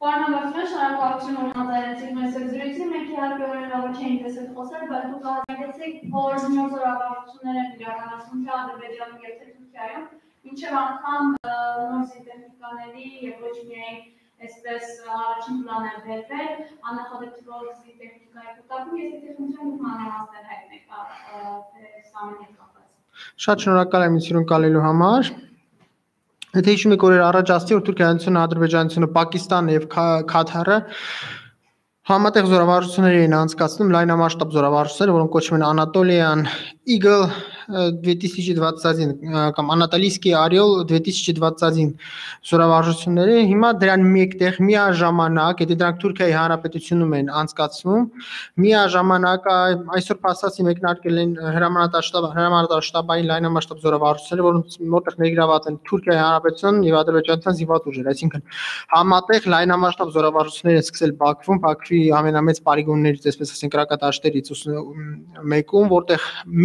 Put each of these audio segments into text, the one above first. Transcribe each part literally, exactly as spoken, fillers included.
Պարոն շնորհակալություն ունեցեք մեզ զրույցին, մենք իհարկե օրինավոր չէինք տեսել խոսել, բայց դուք արձանագրեցիք, որ նոր զորավարժություններ են իրականացնում թե Ադրբեջանում և թե Թուրքիայում, մինչև անգամ նոր զինտեխնիկաների և ոչ միայն այսպես առաջին պլան են բերվել, աննախադեպ զինտեխնիկայի կուտակում, ես եթե խնդրեմ դուք մանրամասներ հայտնեք այս ամենի հետ կապված։ Շատ շնորհակալ եմ ինձ հյուրընկալելու համար։ Եթե հիշում եք օրեր առաջ ասացի, որ Թուրքիայինությունը, Ադրբեջանությունը, Պակիստանը եւ Քաթարը համատեղ զորավարժություններ էին անցկացնում, լայնամասշտաբ զորավարժություններ, որոնք կոչվում են Anatolian Eagle две тысячи двадцать один կամ Anatolийский Орел две тысячи двадцать один զորավարժությունները հիմա դրան մեկտեղ միաժամանակ, եթե դրանք Թուրքիայի Հանրապետությունում են անցկացվում, միաժամանակ այսօր փաստացի մեկնարկել են հրամանատարշտաբ հրամանատարշտաբային լայնամասշտաբ զորավարժությունները, որոնց մոտեղ ներգրաված են Թուրքիայի Հանրապետության եւ Ադրբեջանության զինված ուժեր, այսինքն համատեղ լայնամասշտաբ զորավարժություններ են սկսել Բաքվում, Բաքվի ամենամեծ պարիգոններից, այսպես ասենք, կրակատաշտերից մեկում, որտեղ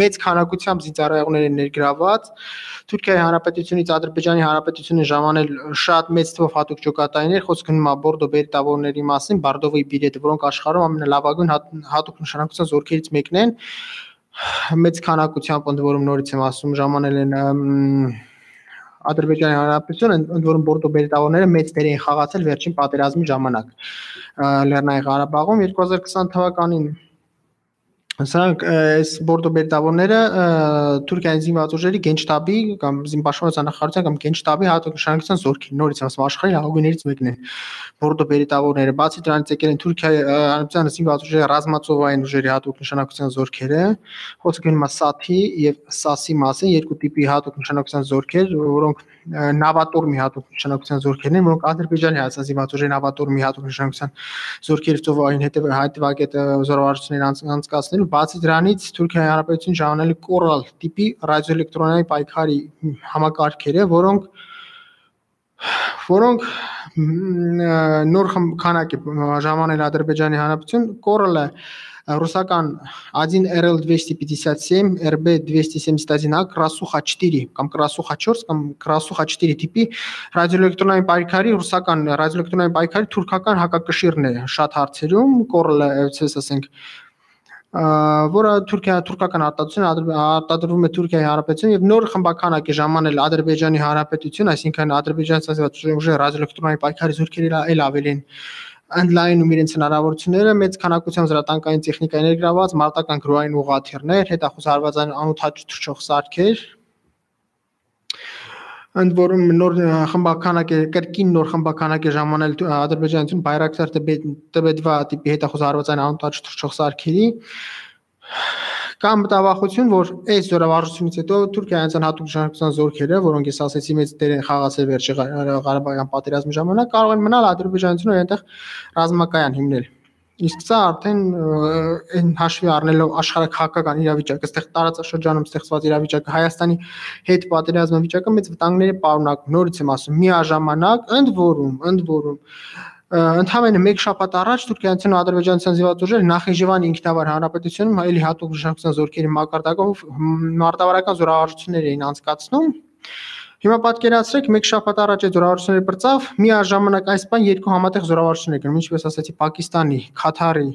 մեծ քանակությամբ զինծառայողներ են ներգրաված։ Թուրքիայի Հանրապետությունից Ադրբեջանի Հանրապետությունը ժամանել շատ մեծ թվով հատուկ ջոկատայիններ, խոսքը գնում է Բորդո բերիտավորների մասին, Բարդովի բիրետը, որոնք աշխարհում ամենալավագույն հատուկ նշանակության զորքերից մեկն են։ Մեծ քանակությամբ, ընդ որում նորից եմ ասում, ժամանել են Ադրբեջանի Հանրապետությունը, ընդ որում Բորդո բերիտավորները մեծ դեր են խաղացել վերջին պատերազմի ժամանակ Լեռնային Ղարաբաղում երկու հազար քսան թվականին։ Սրանք այս Բորդո բերիտավորները Թուրքիայի զինված ուժերի գենշտաբի կամ զինպաշտպանության նախարարության կամ գենշտաբի հատուկ նշանակության զորքեր, նորից ասում աշխարհի լավագույններից մեկն են Բորդո բերիտավորները, բացի դրանից եկել են Թուրքիայի հանրապետության զինված ուժերի ռազմածովային ուժերի հատուկ նշանակության զորքերը, խոսքը գնում է Սաթի եւ Սասի մասին, երկու տիպի հատուկ նշանակության զորքեր, որոնք նավատորմի հատուկ նշանակության զորքերն են, որոնք Ադրբեջանի հայաստան զինված ուժերի նավատորմի հատուկ նշանակության զորքերի ծովային հետևակետ զորավարժություններ անցկացնելու, բացի դրանից Թուրքիայի Հանրապետությունը ժամանել է Coral տիպի ռադիոէլեկտրոնային պայքարի համակարգերը, որոնք որոնք նոր քանակ է ժամանել Ադրբեջանի Հանրապետություն, Coral-ը ռուսական один эр эл двести пятьдесят семь, эр бэ двести семьдесят один а, Krasukha четыре կամ Krasukha четыре կամ Krasukha четыре տիպի ռադիոէլեկտրոնային պայքարի ռուսական ռադիոէլեկտրոնային պայքարի թուրքական հակակշիռն է շատ հարցերում, Coral-ը, այսպես ասենք, որը Թուրքիա թուրքական արտադրություն արտադրվում է Թուրքիայի Հանրապետություն եւ նոր խմբականակ է ժամանել Ադրբեջանի Հանրապետություն, այսինքն Ադրբեջանի ուժի ռադիոէլեկտրոնային պայքարի զորքերը էլ ավելի են ընդլայնում իրենց հնարավորությունները, մեծ քանակությամբ զրատանկային տեխնիկա ներգրաված, մարտական գրոային ուղղաթիռներ, հետախուզ հարվածային անօթաչ թռչող սարքեր, ընդ որում նոր խմբականակ է, կրկին նոր խմբականակ է ժամանել Ադրբեջանություն Bayraktar T B dva տիպի հետախուզ հարվածային անօթաչ թռչող սարքերի, կա մտավախություն, որ այս զորավարժությունից հետո Թուրքիայից հատուկ նշանակության զորքերը, որոնք ես ասացի մեծ դեր են խաղացել վերջի Ղարաբաղյան պատերազմի ժամանակ, կարող են մնալ Ադրբեջանությունը այնտեղ ռազմակայան հիմնել։ Իսկ սա արդեն այն հաշվի առնելով աշխարհաքաղաքական իրավիճակը, այստեղ տարածաշրջանում ստեղծված իրավիճակը, Հայաստանի հետ պատերազմի վիճակը մեծ վտանգներ է պարունակում։ Նորից եմ ասում, միաժամանակ, ընդ որում, ընդ որում Ընդհանրապես մեկ շաբաթ առաջ Թուրքիայից ու Ադրբեջանության զինված ուժերը Նախիջևանի ինքնավար հանրապետությունում այլի հատուկ նշանակության զորքերի մակարդակով մարտավարական զորավարժություններ էին անցկացնում։ Հիմա պատկերացրեք, մեկ շաբաթ առաջ այդ զորավարժությունները բրծավ, միաժամանակ այս բան երկու համատեղ զորավարժություններ կան, ինչպես ասացի, Պակիստանի, Քաթարի,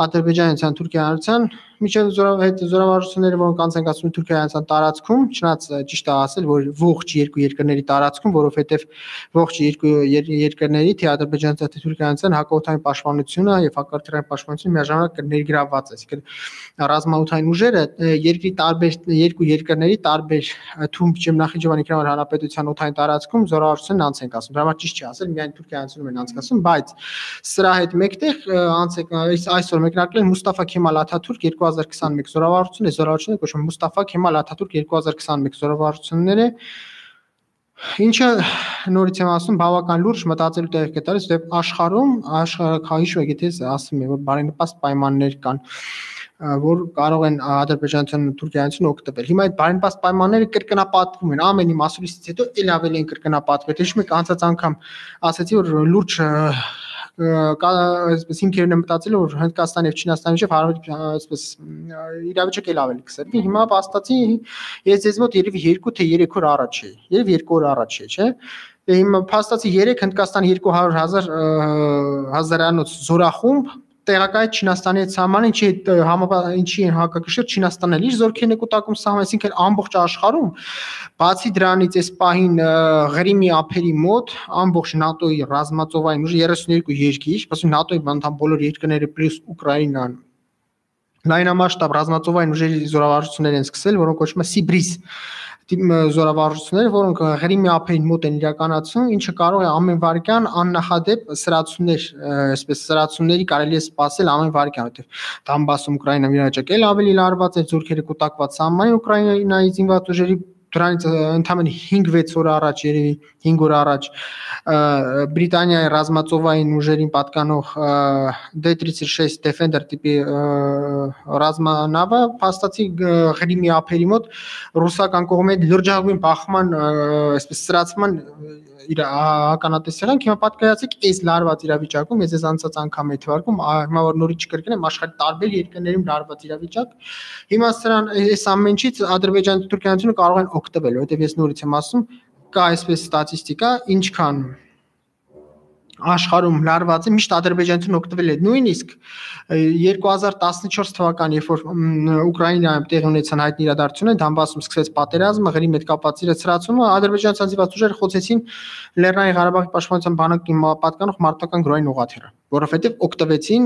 Ադրբեջանության, Թուրքիայից միջև զորավարժությունները, որոնք անց են կացվում Թուրքիայից տարածքում, չնայած ճիշտ է ասել, որ ողջ երկու երկրների տարածքում, որովհետև ողջ երկու երկրների թե Ադրբեջանից թե Թուրքիայից հակաօդային պաշտպանությունը եւ հակառակորդային պաշտպանությունը միաժամանակ ներգրաված է, այսինքն ռազմաօդային ուժերը երկրի տարբեր երկու երկրների տարբեր թվում չեմ Նախիջևանի ինքնավար հանրապետության օդային տարածքում զորավարժությունն անց են կացվում։ Դա համար ճիշտ չի ասել, միայն Թուրքիայից են անցկացվում, բայց սրա հետ մեկտեղ անց է այսօր մեկնարկել Մուստաֆա Քեմալ Աթաթուրք երկու հազար քսանմեկ զորավարժությունը, զորավարժությունը կոչվում է Մուստաֆա Քեմալ Աթաթուրք երկու հազար քսանմեկ զորավարժությունները, ինչը նորից եմ ասում, բավական լուրջ մտածելու տեղ է տալիս, որտեղ աշխարհում աշխարհակահիշ եք, եթե ասում եմ, որ բարենպաստ պայմաններ կան, որ կարող են Ադրբեջանցիան ու Թուրքիայից օգտվել։ Հիմա այդ բարենպաստ պայմանները կրկնապատկվում են, ամեն մի մասուլիսից հետո ել ավելի են կրկնապատկվել։ Հիշում եք, անցած անգամ ասացի, որ լուրջ այսպես հիմքերն եմ մտածել, որ Հնդկաստանի եւ Չինաստանի միջեւ այսպես իրավիճակը էլ ավելի կսրվի։ Հիմա փաստացի ես ձեզ մոտ երևի երկու թե երեք օր առաջ է, երևի երկու օր առաջ է, չէ՞։ Հիմա փաստացի երեք Հնդկաստանի երկու հարյուր հազար հազարանոց զորախումբ տեղակայեց Չինաստանի հետ սահմանին, ինչի ինչի են հակակշիռ Չինաստանն էլ իր զորքերն է կուտակում սահման, այսինքն ամբողջ աշխարհում բացի դրանից այս պահին Ղրիմի ափերի մոտ ամբողջ ՆԱՏՕ-ի ռազմածովային ուժը երեսունյոթ երկիր, ասում ՆԱՏՕ-ի անդամ բոլոր երկրները պլյուս Ուկրաինան լայնամասշտաբ ռազմածովային ուժերի զորավարժություններ են սկսել, որոնք կոչվում են Սիբրիս զորավարժություններ, որոնք Ղրիմի ափերին մոտ են իրականացում, ինչը կարող է ամեն վայրկյան աննախադեպ սրացումներ, այսպես սրացումների կարելի է սպասել ամեն վայրկյան, որտեղ Դոնբասում Ուկրաինան իրավիճակել ավելի լարված է, զորքերը կուտակված սահմանին Ուկրաինայի զինված ուժերի դրանից ընդամենը հինգ վեց օր առաջ, երևի հինգ օր առաջ Բրիտանիայի ռազմածովային ուժերին պատկանող դե тридцать шесть Defender տիպի ռազմանավը փաստացի Ղրիմի ափերի մոտ ռուսական կողմի լրջագույն բախման, այսպես սրացման իր ականատես եղանք, հիմա պատկերացրեք այս լարված իրավիճակում, ես ես անցած անգամ եմ թվարկում, հիմա որ նորից չկրկնեմ, աշխարհի տարբեր երկրներում լարված իրավիճակ, հիմա սրան այս ամեն ինչից Ադրբեջանը, Թուրքիայանը կարող են օգտվել, որովհետև ես նորից եմ ասում, կա այսպես ստատիստիկա, ինչքան աշխարհում լարված է, միշտ ադրբեջանցին օգտվել է նույնիսկ երկու հազար տասնչորս թվականին, երբ որ Ուկրաինայում տեղի ունեցան հայտնի իրադարձությունները, Դոնբասում սկսվեց պատերազմը, Ղրիմի հետ կապված իրացրացումը, ադրբեջանցի զինված ուժերը խոցեցին Լեռնային Ղարաբաղի պաշտպանության բանակի պատկանող մարտական գրոհային ուղղաթիռը, որովհետև օգտվեցին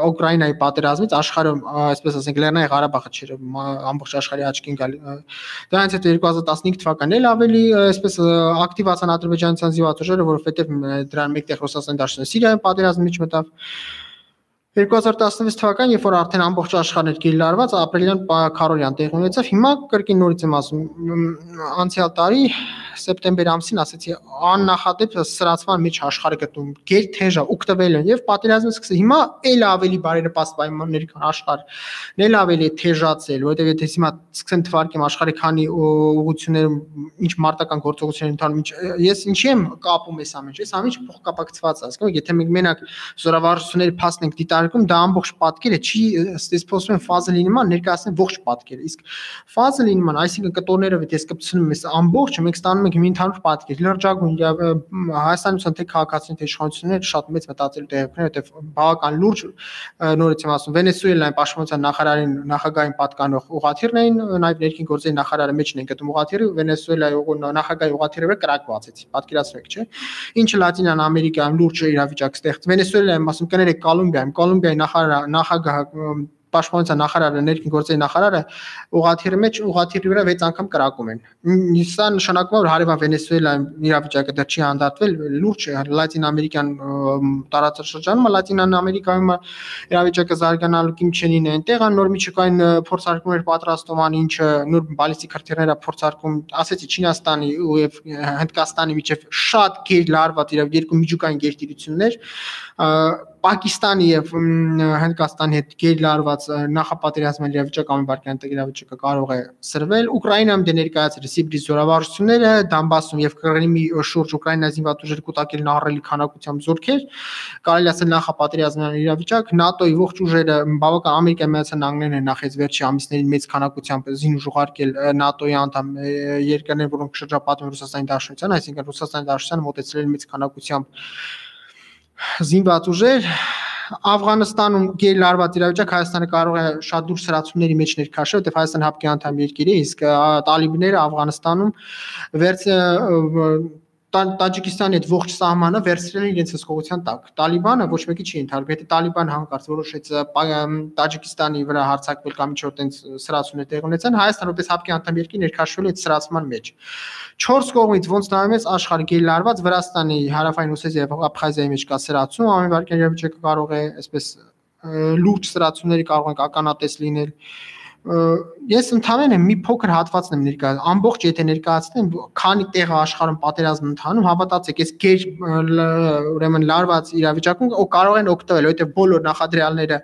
Ուկրաինայի պատերազմից աշխարհում, այսպես ասենք, Լեռնային Ղարաբաղը չէր ամբողջ աշխարհի աչքին գալի։ Դրանից հետո երկու հազար տասնհինգ թվականին էլ ավելի այսպես ակտիվացան ադրբեջանցի զինված ուժերը, որովհետև դրան մեկտեղ Ռուսաստանի Դաշնության Սիրիայում պատերազմի մեջ մտավ։ երկու հազար տասնվեց թվականին, երբ որ արդեն ամբողջ աշխարհն էր գերլարված, ապրիլյան քարորյան տեղ ունեցավ, հիմա կրկին նորից եմ ասում, անցյալ տարի սեպտեմբեր ամսին ասեցի աննախադեպ սրացման մեջ աշխարհը գտնում գեր թեժա օգտվել են եւ պատերազմը սկսել հիմա էլ ավելի բարերպաստ պայմանների կան աշխարհն էլ ավելի թեժացել, որովհետեւ եթե հիմա սկսեմ թվարկեմ աշխարհի քանի ուղղություններում ինչ մարտական գործողություններ ընթանում, ես ինչի եմ կապում այս ամենը, այս ամենը փոխկապակցված է, հասկանու՞մ, եթե մենք մենակ զորավարժությունների փաստն ենք դիտարկում, դա ամբողջ պատկերը չի, ըստ փոսում են ֆազելի նման ներկայացնել ողջ պատկերը, իսկ ֆազելի նման, այսինքն կտորները ես կպցնում եմ այս ամբողջը, մենք ստանում ենք մի ընդհանուր պատկեր, լրջագույն Հայաստանության թե քաղաքացիների թե իշխանությունները շատ մեծ մտածելու տեղիքներ, որտեղ բավական լուրջ նորից եմ ասում, Վենեսուելայի պաշտպանության նախարարին նախագահային պատկանող ուղղաթիռն էին, նաև ներքին գործերի նախարարը մեջն են գտնում ուղղաթիռը, Վենեսուելայի նախագահի ուղղաթիռը վրա կրակվածեց, պատկերացրեք, չէ՞։ Ինչը Լատինան Ամերիկայում լուրջ իրավիճակ ստեղծ, Վենեսուելայում ասում կներեք Կոլումբիայում, Կոլումբիայի նախարար նախագահ պաշտպանության նախարարը, ներքին գործերի նախարարը ուղղաթիռի մեջ ուղղաթիռի վրա վեց անգամ կրակում են։ Սա նշանակում է, որ հարևան Վենեսուելայում իրավիճակը դեռ չի հանդարտվել, լուրջ է Լատին Ամերիկան տարածաշրջանում, Լատինան Ամերիկայում իրավիճակը զարգանալու կիմչենին է այնտեղ, նոր միջուկային փորձարկումներ պատրաստում ան, ինչը նոր բալիստիկ հրթիռներ փորձարկում, ասեցի Չինաստանի եւ Հնդկաստանի միջև շատ գեր լարված իրավ երկու միջուկային գերտիրություններ, Պակիստանի եւ Հնդկաստանի հետ գերլարված նախապատերազմային իրավիճակ ամենբարքյան իրավիճակը կարող է սրվել։ Ուկրաինայում դե ներկայացրել Սիբրիս զորավարժությունները, Դոնբասում եւ Կրիմի շուրջ Ուկրաինայի զինված ուժերը կուտակել ահռելի քանակությամբ զորքեր, կարելի ասել նախապատերազմային իրավիճակ, ՆԱՏՕ-ի ողջ ուժերը բավական Ամերիկայի Միացյալ Նահանգներն են նախ այս վերջի ամիսներին մեծ քանակությամբ զինուժ ուղարկել ՆԱՏՕ-ի անդամ երկրներ, որոնք շրջապատում են Ռուսաստանի Դաշնության, այսինքն Ռուսաստանի Դաշնությանը մոտեցրել մեծ քանակությամբ զինված ուժեր, Աֆղանստանում գերլարված իրավիճակ, Հայաստանը կարող է շատ դուրս սրացումների մեջ ներքաշել, որտեղ Հայաստանը հապկի անդամ երկիր է, իսկ տալիբները Աֆղանստանում վերց Տաջիկստանի հետ ողջ սահմանը վերցրել են իրենց հսկողության տակ։ Տալիբանը ոչ մեկի չի ընդհանրում, եթե Տալիբան հանկարծ որոշեց Տաջիկստանի վրա հարձակվել կամ ինչ-որ տենց սրացումներ տեղ ունեցան, Հայաստանը որպես հապկի անդամ երկիր ներքաշվել է այդ սրացման մեջ։ Չորս կողմից ոնց նայում ես աշխարհը գերլարված, Վրաստանի հարավային Օսեթիայի եւ Աբխազիայի մեջ կա սրացում, ամեն վարքյան իրավիճակը կարող է այսպես լուրջ սրացումների կարող են ականատես լինել։ Ես ընդհանրապես մի փոքր հատվածն եմ ներկայացնում, ամբողջ եթե ներկայացնեմ, քանի տեղ աշխարհում պատերազմ ընթանում, հավատացեք, այս գեր ուրեմն լարված իրավիճակում կարող են օգտվել, որովհետև բոլոր նախադրյալները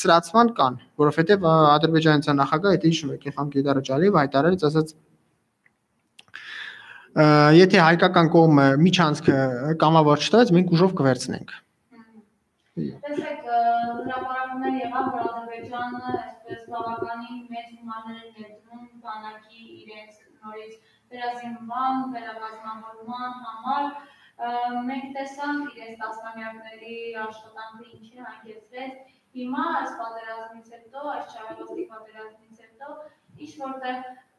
սրացման կան, որովհետև Ադրբեջանության նախագահը դա հիշում եք, Իլհամ Գեդարաջալիևը հայտարարեց, ասաց եթե հայկական կողմը միջանցքը կամավոր չտվեց, մենք ուժով կվերցնենք։ Տեսեք, հրապարակումներ եղավ, որ Ադրբեջանը այսպես բավականին մեծ հիմարներ էր ներդնում բանակի իրենց նորից վերազինման, վերակազմավորման համար մենք տեսանք իրենց տասնամյակների աշխատանքը ինչի հանգեցրեց հիմա այս պատերազմից հետո, այս չարագործիկ պատերազմից հետո ինչ որտեղ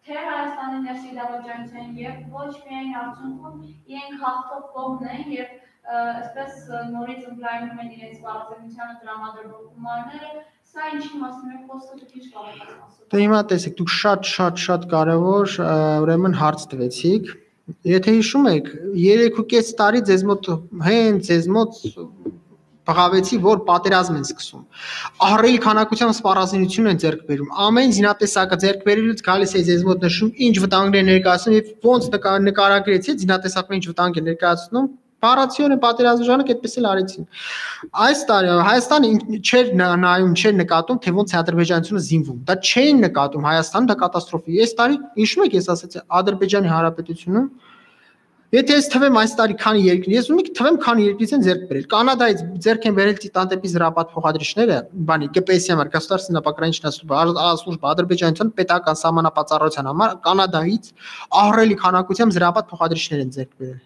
թե Հայաստանի ներսի դավաճանության եւ ոչ միայն արդյունքում իրենք հաղթող կողմն են եւ այսպես նորից ընդլայնում են իրենց պարզենությանը տրամադրող գումարները, սա ինչի մասին է խոսքը դուք ինչ կարող եք ասել։ Դե հիմա տեսեք, դուք շատ շատ շատ կարևոր ուրեմն հարց տվեցիք։ Եթե հիշում եք, երեք ու կես տարի ձեզ մոտ հենց ձեզ մոտ բղավեցի, որ պատերազմ են սկսում։ Ահռելի քանակությամբ սպառազինություն են ձեռք բերում։ Ամեն զինատեսակը ձեռք բերելուց գալիս է ձեզ մոտ նշում, ինչ վտանգներ ներկայացնում եւ ոնց նկարագրեցի, զինատեսակը ինչ վտանգ է ներկայացնում։ Բառացիորեն պատերազմի ժամանակ այդպես էլ արեցին։ Այս տարի Հայաստանը չէր նայում, չէր նկատում, թե ոնց է ադրբեջանությունը զինվում։ Դա չէին նկատում Հայաստանը, դա կատաստրոֆա է։ Այս տարի, հիշում եք, ես ասացի, Ադրբեջանի Հանրապետությունը, եթե ես թվեմ այս տարի քանի երկրի, ես ունի թվեմ քանի երկրից են ձեռք բերել։ Կանադայից ձեռք են բերել տիտանտեպի զրապատ փոխադրիչները, բանի ԿՊՍ-ի համար, Государственная пограничная служба, Ադրբեջանության պետական սահմանապատառության համար Կանադայից ահռելի քանակությամբ զրապատ փոխադրիչներ են ձեռք բերել։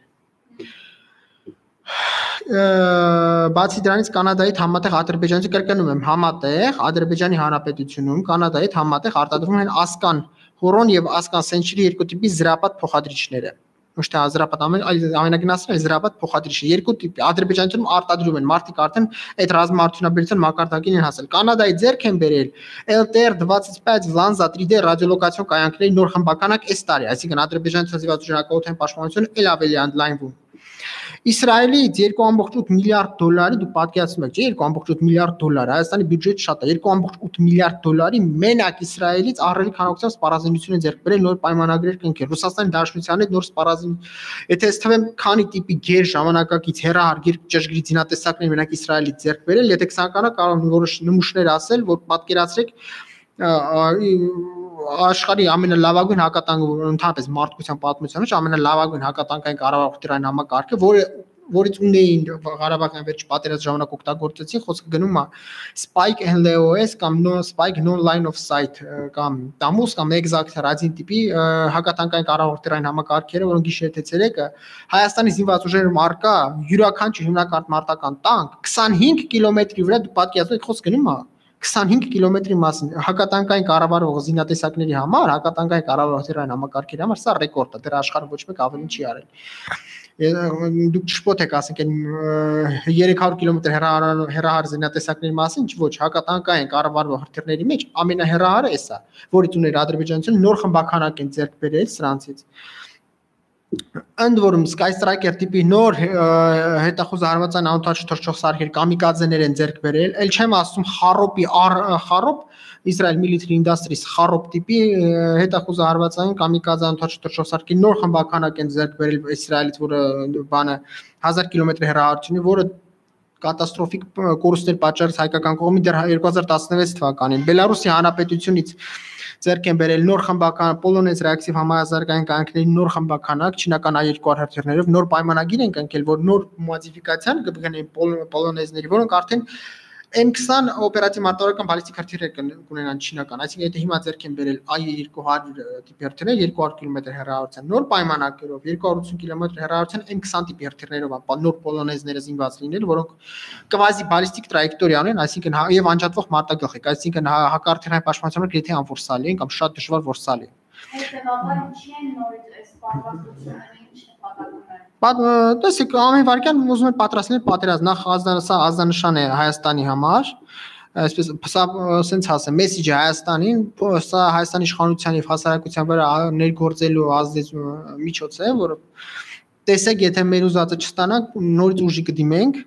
Բացի դրանից Կանադայի համատեղ Ադրբեջանից կրկնում եմ համատեղ Ադրբեջանի Հանրապետությունում Կանադայի համատեղ արտադրվում են Ասկան Հորոն եւ Ասկան Սենչրի երկու տիպի զրապատ փոխադրիչները։ Ոչ թե զրապատ ամենագնացն է զրապատ փոխադրիչը երկու տիպի Ադրբեջանում արտադրում են մարդիկ արդեն այդ ռազմաարդյունաբերության մակարդակին են հասել։ Կանադայի ձեռք են բերել L T R двадцать пять Lanza три D ռադիոլոկացիոն կայանքների նոր խմբականակ այս տարի, այսինքն Ադրբեջանի ցանցիվաճառակողության պաշտպանությունը ել ավելի ընդլայնվում։ Իսրայելից երկու կόμկոմ ութ միլիարդ դոլարի դու պատկերացնում եք, չէ՞, երկու կόμկոմ ութ միլիարդ դոլար, Հայաստանի բյուջեթը շատ է, երկու կόμկոմ ութ միլիարդ դոլարի մենակ Իսրայելից ահռելի քանակությամբ սպառազինություն են ձեռք բերել նոր պայմանագրեր կնքել։ Ռուսաստանի Դաշնության հետ նոր սպառազին, եթե ես թվեմ, քանի տիպի գեր ժամանակակից հերահար գեր ճշգրիտ զինատեսակներ մենակ Իսրայելից ձեռք բերել, եթե ցանկանա կարող եմ որոշ նմուշներ ասել, որ պատկերացրեք աշխարհի ամենալավագույն հակատանկը ընդհանրապես մարդկության պատմության մեջ ամենալավագույն հակատանկային կառավարության համակարգը, որը որից ունեին Ղարաբաղյան վերջ պատերազմի ժամանակ օգտագործեցին, խոսքը գնում է Spike N L O S կամ no Spike no line of sight կամ Tamus կամ exact ռադին տիպի հակատանկային կառավարության համակարգերը, որոնք գիշեր թե ցերեկը Հայաստանի զինված ուժերում արկա յուրաքանչյուր հիմնակարգ մարտական տանկ քսանհինգ կիլոմետրի վրա դու պատկերացնում եք, խոսքը գնում է քսանհինգ կիլոմետրի մասին հակատանկային կառավարող զինատեսակների համար, հակատանկային կառավարության համակարգերի համար սա ռեկորդ է, դեռ աշխարհում ոչ մեկ ավելին չի արել։ Դուք ճշտոտ եք ասենք այն երեք հարյուր կիլոմետր հեռահար զինատեսակների մասին, ոչ հակատանկային կառավարող հրթիռների մեջ ամենահեռահարը էսա, որից ուներ Ադրբեջանությունը նոր խմբականակ են ձեռք բերել սրանցից։ Ընդ որում Sky Striker տիպի նոր հետախուզ հարվածային անօթաչ թռչող սարքեր կամիկաձեներ են ձեռք բերել, ել չեմ ասում Խարոպի Խարոպ Israel Military Industries Խարոպ տիպի հետախուզ հարվածային կամիկաձե անօթաչ թռչող սարքի նոր խմբականակ են ձեռք բերել Իսրայելից, որը բանը հազար կիլոմետր հեռահարությունի, որը կատաստրոֆիկ կորուստներ պատճառեց հայկական կողմի դեռ երկու հազար տասնվեց թվականին։ Բելարուսի հանրապետությունից ձեռք են բերել նոր խմբական Polonez reactive համահազարգային կայանքների նոր խմբականակ չինական A երկու հրթիռներով նոր պայմանագիր են կնքել, որ նոր մոդիֆիկացիան կգնեն Polonez-ների, որոնք արդեն M twenty օպերատիվ մարտավարական բալիստիկ հրթիռներ կունենան չինական, այսինքն եթե հիմա ձեռք են բերել A երկու հարյուր տիպի հրթիռներ երկու հարյուր կիլոմետր հեռահարության նոր պայմանագրերով երկու հարյուր ութ կիլոմետր հեռահարության M twenty տիպի հրթիռներով նոր Polonez-ները զինված լինել, որոնք կվազի բալիստիկ տրայեկտորիա ունեն, այսինքն եւ անջատվող մարտագլխիկ, այսինքն հակարդիռային պաշտպանության գրեթե անորսալի են կամ շատ դժվար որսալի են։ Հետևաբար ինչի են նորից այս պատվաստությունները ինչ նպատակում են։ Տեսեք, ամեն վարքյան ուզում են պատրաստել պատերազմ, նախ սա ազդանշան է Հայաստանի համար, այսպես սա սենց ասեմ, մեսիջը Հայաստանին, սա Հայաստանի իշխանության եւ հասարակության վրա ներգործելու ազդեցություն միջոց է, որը տեսեք, եթե մեր ուզածը չստանանք, նորից ուժի կդիմենք։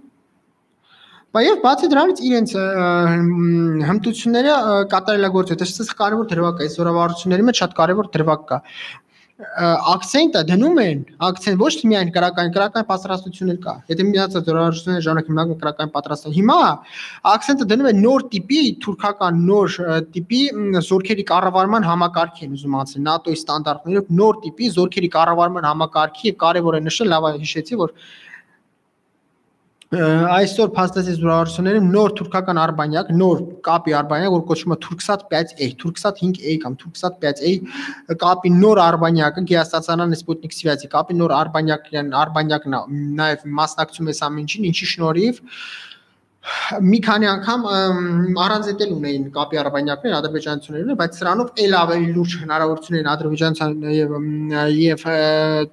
Բայց բացի դրանից իրենց հմտությունները կատարելագործել, դա կարևոր դրվագ է, այս զորավարությունների մեջ շատ կարևոր դրվագ կա։ Ակցենտը դնում են, ակցենտ ոչ թե միայն քրական, քրական պատրաստություն էլ կա։ Եթե միացած զորավարությունների ժամանակ հիմնականում քրական պատրաստություն։ Հիմա ակցենտը դնում են նոր տիպի, թուրքական նոր տիպի զորքերի կառավարման համակարգի են ուզում անցնել նատոյի ստանդարտներով նոր տիպի զորքերի կառավարման համակարգի եւ կարևոր է նշել, լավ հիշեցի, որ Այսօր փաստացի զորավարությունները նոր թուրքական արբանյակ, նոր կապի արբանյակ, որ կոչվում է Turksat пять A, Turksat cinci A կամ Turksat пять A կապի նոր արբանյակը գերստացիոնար Sputnik связи կապի նոր արբանյակն արբանյակն է, նաև մասնակցում է սա ինչին, ինչի շնորհիվ մի քանի անգամ առանձետել ունեին կապի արբանյակներ ադրբեջանցիներն, բայց սրանով ել ավելի լուրջ հնարավորություն են ադրբեջանցիան եւ եւ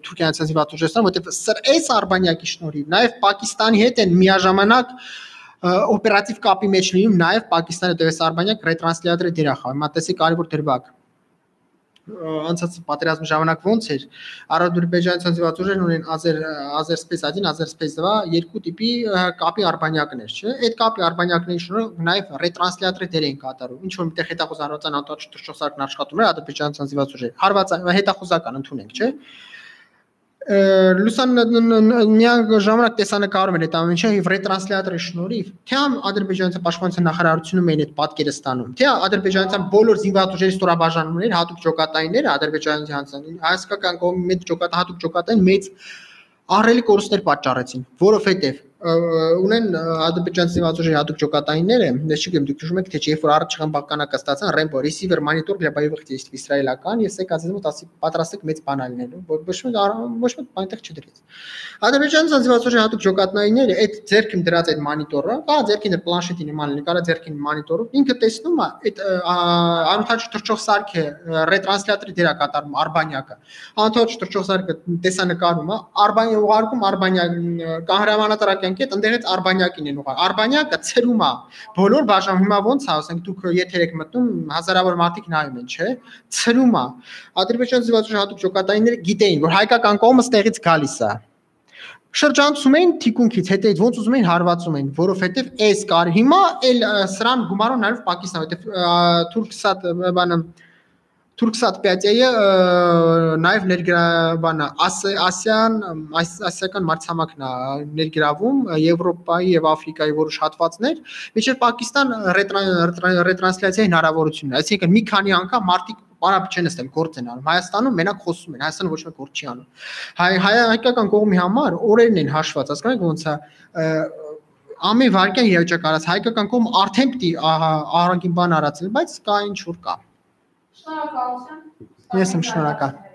Թուրքիան ցանցիվատ ուժերն, որտեղ այս արբանյակի շնորհիվ նաև Պակիստանի հետ են միաժամանակ օպերատիվ կապի մեջ լինում, նաև Պակիստանը դեպս արբանյակ ռետրանսլյատորի դեր է խաղում, հիմա տեսեք կարևոր դրվագ անցած պատերազմի ժամանակ ոնց էր Ադրբեջանի ցանցիվատ ուժերն ունեն Azer Azerspace один, Azerspace два երկու տիպի կապի արբանյակներ, չէ՞։ Այդ կապի արբանյակների շնորհիվ նաև ռետրանսլյատորի դեր են կատարում։ Ինչ որ միտեղ հետախուզարվածան անտառ չթռչողսարկն աշխատում էր Ադրբեջանի ցանցիվատ ուժերը։ Հարվածան հետախուզական ընդունենք, չէ՞։ Լուսան միակ ժամանակ տեսանկարում են այդ ամեն ինչը եւ ռետրանսլյատորի շնորհիվ թե ադրբեջանցի պաշտպանության նախարարությունում էին այդ պատկերը ստանում թե ադրբեջանցիան բոլոր զինված ուժերի ստորաբաժանումներ հատուկ ջոկատայինները ադրբեջանցի հայկական կողմի մեծ ջոկատ հատուկ ջոկատային մեծ ահռելի կորուստներ պատճառեցին որովհետեւ ունեն ադրբեջանցի զինված ուժերի հատուկ ջոկատայինները ես չգիտեմ դուք հիշում եք թե չէ երբ որ առաջ խմբականակը ստացան Rainbow Receiver Monitor для боевых действий իսրայելական ես եկած եմ ասի պատրաստեք մեծ բան ալնելու ոչ ոչ մեկ այնտեղ չդրեց ադրբեջանցի զինված ուժերի հատուկ ջոկատայինները այդ ձերքին դրած այդ մոնիտորը կա ձերքին պլանշետի նման լինի կարա ձերքին մոնիտորով ինքը տեսնում է այդ անընդհատ թռչող սարքը ռետրանսլյատորի դեր է կատարում արբանյակը անընդհատ թռչող սարքը տեսանկարում է արբանյակը ուղարկում արբանյակ կահրամանատարակ Այդ ընդերից արբանյակին են ուղղ։ Արբանյակը ցրում է բոլոր բաժան հիմա ոնց է, ասենք դուք եթեր եք մտնում հազարավոր մարդիկ նայում են, չէ՞։ Ցրում է։ Ադրբեջանի զինված ուժերի հատուկ ջոկատայինները գիտեին, որ հայկական կողմը ստեղից գալիս է։ Շրջանցում էին թիկունքից, հետեւից ոնց ուզում էին հարվածում էին, որովհետեւ այս կար հիմա էլ սրան գումարով նաև Պակիստան, որովհետեւ Turksat բանը Turksat пять A-ը նաև ներգրավանը ասիան ասիական մարտհամակն է ներգրավում Եվրոպայի եւ Աֆրիկայի որոշ հատվածներ, միջև Պակիստան ռետրանսլյացիայի հնարավորությունն է, այսինքն մի քանի անգամ մարդիկ Պարապ չեն ստել գործ են անում Հայաստանում մենակ խոսում են Հայաստանը ոչ մեկ գործ չի անում հայ հայկական կողմի համար օրերն են հաշված հասկանաք ոնց է ամեն վարքյան իրավիճակ արած հայկական կողմ արդեն պիտի ահագին բան արածել բայց կա ինչ որ կա Շնորհակալություն Ես եմ շնորհակալ